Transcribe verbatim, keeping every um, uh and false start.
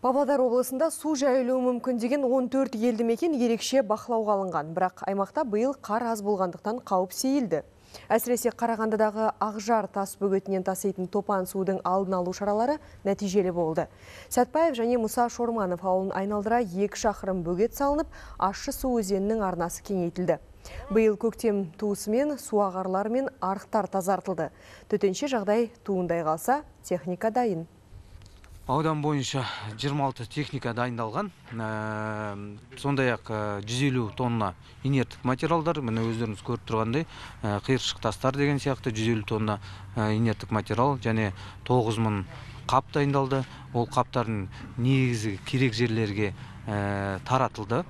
Павлодар облысында су жайылуы мүмкін деген он төрт елді мекен ерекше бақылауға алынған. Бірақ аймақта биыл қар аз болғандықтан қауіп сейілді. Әсіресе Қарағандыдағы Ақжар тас бөгетінен таситын топан судың алдын алу шаралары нәтижелі болды. Сәтпаев және Мұса Шорманов ауылын айналдыра екі шақырым бөгет салынып, ащы су өзенінің арнасы кеңейтілді. Биыл көктем туысымен суағарлар мен арықтар тазартылды. Төтенше жағдай туындай қалса, техника дайын. Аудан бойынша жиырма алты техника дайындалған. Сондай-ақ жүз елу тонна инерттік материалдар, міне өздеріңіз көріп тұрғандай, қиыршық тастар деген сияқты жүз елу тонна инерттік материал және тоғыз мың қап дайындалды. Ол қаптардың негізі керек жерлерге таратылды.